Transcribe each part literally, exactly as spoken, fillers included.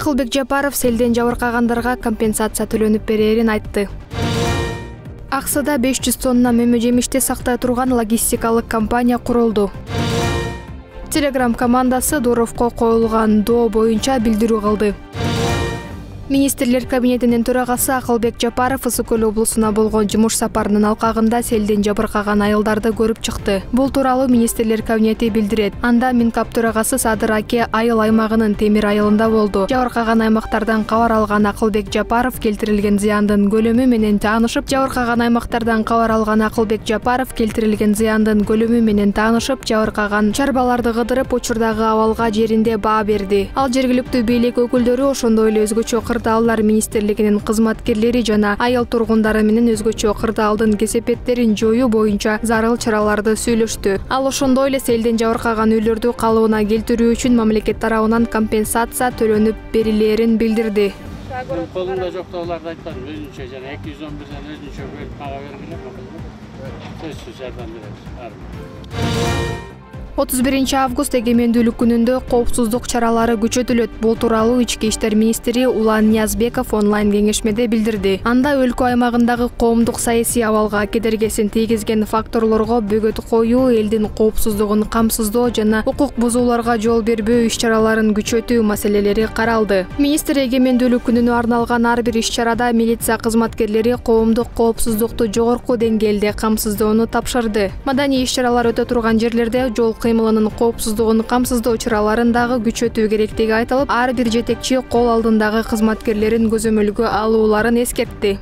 Акылбек Жапаров селден жабыркагандарга компенсация төлөнүп берерин айтты. Аксыда беш жүз тонна мөмө жемишти сактай турган логистикалык компания курулду. Телеграм командасы Дуровко коюлган доо боюнча билдирүү кылды. Министрлер кабинетинин төрагасы Акылбек Жапаров Ысык-Көл облусуна болгон жумуш сапарынын алкагында селден жабыркаган айылдарды көрүп чыкты. Бул тууралуу Министрлер кабинети билдирет. Анда Минкап төрагасы Садыр Аке айыл аймагынын Темир айылында болду. Жабыркаган аймактардан кабар алган Акылбек Жапаров келтирилген зыяндын көлөмү менен таанышып, жабыркаган аймактардан кабар алган Акылбек Жапаров келтирилген зыяндын көлөмү менен таанышып, жабыркаган чарбаларды кыдырып, учурдагы абалга жеринде баа берди. Ал жергиликтүү бийлик өкүлдөрү, ошондой эле өзгөчө кырдаалдар министрлигинин кызматкерлери жана айыл тургундары менен өзгөчө кырдаалдын кесепеттерин жоюу боюнча зарыл чараларды сүйлөштү. Ал ошондой эле селден жабыркаган үйлөрдү калыбына келтирүү үчүн мамлекет тарабынан компенсация төлөнүп берилерин билдирди. Колумда жоктоолорду айтпадым, өзүнчө жана эки жүз он бирден өзүнчө бөлүп мага бергиле. Сөзсүз жардам беребиз. отуз биринчи август эгемендүүлүк күнүндө коопсуздук чаралары күчөтүлөт. Бул тууралуу Ички иштер министри Улан Ниязбеков онлайн кеңешмеде билдирди. Анда өлкө аймагындагы коомдук саясий абалга кедергисин тийгизген факторлорго бөгөт коюу, элдин коопсуздугун камсыздоо жана укук бузууларга жол бербөө иш-чараларын күчөтүү маселелери каралды. Министр эгемендүүлүк күнүнө арналган ар бир иш-чарада милиция кызматкерлери коомдук коопсуздукту жогорку деңгээлде камсыздоону тапшырды. Маданий иш-чаралар өтө турган жерлерде жол кыймылынын коопсуздугун камсыздоо чараларын дагы күчөтүү керектиги айтылып, ар бир жетекчи кол алдындагы кызматкерлерин көзөмөлгө алууларын эскертти.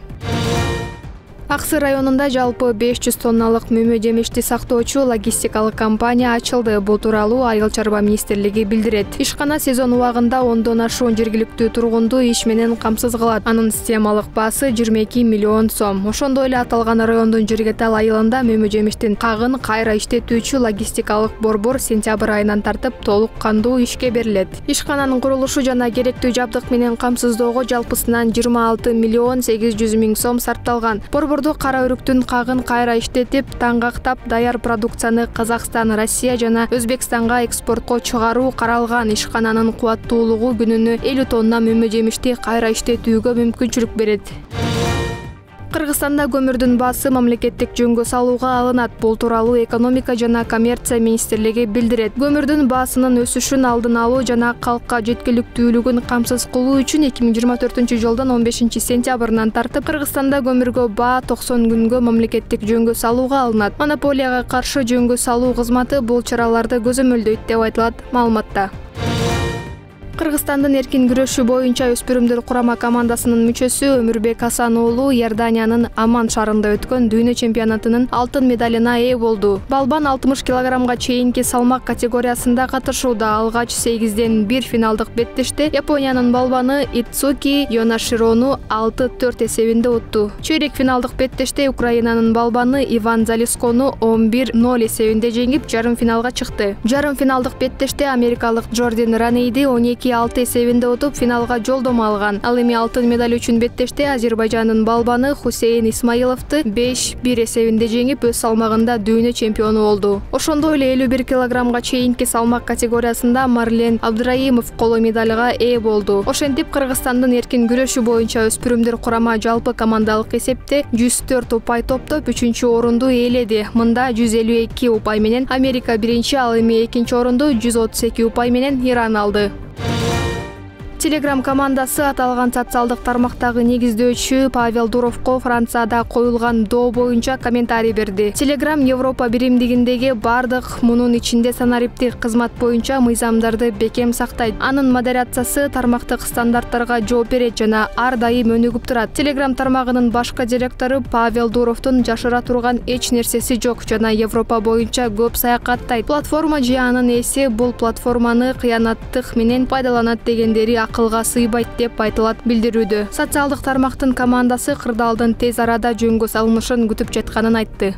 Аксы районунда жалпы беш жүз тонналык мөмө жемишти сактоочу логистикалык компания ачылды. Бул тууралуу Айыл чарба министрлиги билдирет. Ишкана сезон убагында ондон ашуун жергиликтүү тургунду иш менен камсыз кылат. Анын системалык баасы жыйырма эки миллион сом. Ошондой эле аталган райондун Жиргетал айылында мөмө жемиштин кагын кайра иштетүүчү логистикалык борбор сентябрь айынан тартып толук кандуу ишке берилет. Ишкананын курулушу жана керектүү жабдык менен камсыздоого жалпысынан жыйырма алты миллион сегиз жүз миң сом сарпталган. Борборду кара өрүктүн кагын кайра иштетип, таңгактап, даяр продукцияны Казакстан, Россия жана Өзбекстанга экспортко чыгаруу каралган. Ишкананын кубаттуулугу күнүнө элүү тонна мөмө жемишти кайра иштетүүгө мүмкүнчүлүк берет. Кыргызстанда көмүрдүн баасы мамлекеттик жөнгө салууга алынат. Бул тууралуу экономика жана коммерция министрлиги билдирет. Көмүрдүн баасынын өсүшүн алдын алуу жана калкка жеткиликтүүлүгүн камсыз кылуу үчүн эки миң жыйырма төртүнчү жылдын он бешинчи сентябрынан тартып Кыргызстанда көмүргө баа токсон күнгө мамлекеттик жөнгө салууга алынат. Монополияга каршы жөнгө салуу кызматы бул чараларды көзөмөлдөйт деп айтылат маалыматта. Кыргызстандын эркин күрөшүү боюнча өспүрүмдөр курама командасынын мүчөсү Өмүрбек Асан уулу Иорданиянын Аман шаарында өткөн дүйнө чемпионатынын алтын медалына ээ болду. Балбан алтымыш килограммга чейинки салмак категориясында катышууда. Алгач сегизден бир финалдык беттеште Япониянын балбаны Ицуки Йонаширону алты төрт эсебинде утту. Чөйрек финалдык беттеште Украинанын балбаны Иван Залискону он бир ноль эсебинде жеңип, жарым финалга чыкты. Жарым финалдык беттеште америкалык Джордин Ранейди он эки алты эсебинде утуп финалга жолдомо алган. Ал эми алтын медаль үчүн беттеште Азербайжандын балбаны Хусейн Исмаиловду беш бир эсебинде жеңип, өз салмагында дүйнө чемпиону болду. Ошондой эле элүү бир килограммга чейинки салмак категориясында Марлен Абдыраимов коло медальга ээ болду. Ошентип Кыргызстандын эркин күрөшүү боюнча өспүрүмдөр курама жалпы командалык эсепте жүз төрт упай топтоп үчүнчү орунду ээледи. Мында жүз элүү эки упай менен Америка биринчи, ал эми экинчи орунду жүз отуз эки упай менен Иран алды. Телеграм командасы аталган социалдык тармактагы негиздөөчү Павел Дуровко Францияда коюлган доо боюнча комментарий берди. Телеграм Европа биримдигиндеги бардык, мунун ичинде санариптик кызмат боюнча мыйзамдарды бекем сактайт. Анын модерациясы тармактык стандарттарга жооп берет жана ар дайым өнүгүп турат. Телеграм тармагынын башкы директору Павел Дуровдун жашыра турган эч нерсеси жок жана Европа боюнча көп саякаттайт. Платформа же анын ээси бул платформаны кыянаттык менен пайдаланат дегендери акылга сыйбайт деп айтылат билдирүүдө. Социалдык тармактын командасы кырдаалдын тез арада жөнгө салынышын күтүп жатканын айтты.